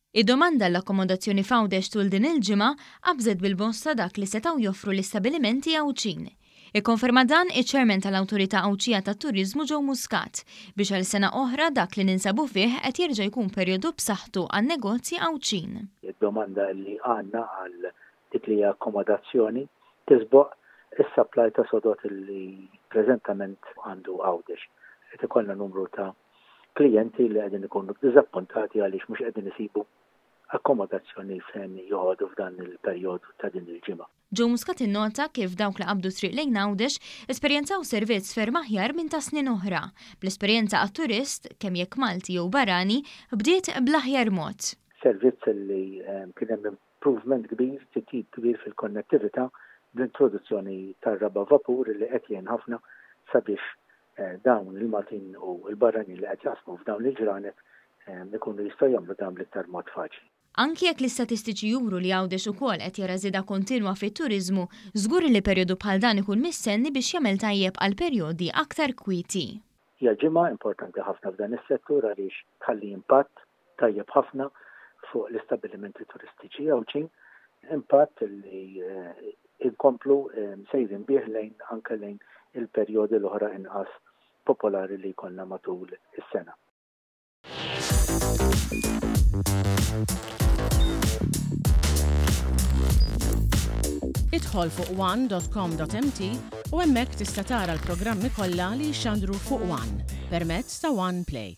Id-domanda għall-akkomodazzjoni f'Għawdex tul din il-ġimgħa qabżet bil-bosta dak li setgħu joffru l-istabilimenti Għawdxin. Ikkonferma dan iċ-Chairman tal-Awtorità Għawdxija tat-Turiżmu Joe Muscat, biex għal sena oħra dak li ninsabu fih qed jerġa' jkun perjodu b'saħħtu għan-negozji Għawdxin. Id-domanda li għandna għal dik li hija akkomodazzjoni tisboq is-supply ta' sodod li preżentament għandu Għawdex. Qed ikollna numru ta' klijenti li qegħdin ikunu ddiżappuntati għaliex mhux qegħdin isibu akkomodazzjoni fejn joqogħdu f'dan il-perjodu ta' din il-ġimgħa. Joe Muscat innota kif dawk li qabdu t-triq lejn Għawdex esperjenzaw servizz ferm aħjar minn ta' snin oħra, bl-esperjenza għat-turist, kemm jekk Malti jew barrani, bdiet bl-aħjar mod. Servizz li kien hemm improvement kbir, titjib kbir fil-konnettività bl-introduzzjoni tar-raba' vapur li qed jgħin ħafna sabiex dawn il-Maltin u l-barranin li qed jaqsmu f'dawn il-ġranet ikunu jistgħu jagħmlu dan bl-iktar mod faċli. Anki jekk l-istatistiċi juru li Għawdex ukoll qed jara żieda kontinwa fit-turiżmu, żgur li perjodu bħal dan ikun mistenni biex jagħmel tajjeb għal perjodi aktar kwieti. Hija ġimgħa importanti ħafna f'dan is-settur għaliex tħalli impatt tajjeb ħafna fuq l-istabbilimenti turistiċi Għawdxin, impatt li nkomplu sejrin bih lejn anke lejn il-perjodi l-oħra inqas popolari li jkollna matul is-sena. Idħol fuq one.com.mt u hemmhekk tista' tara l-programmi kollha li jixxandru fuq One permezz ta' One Play.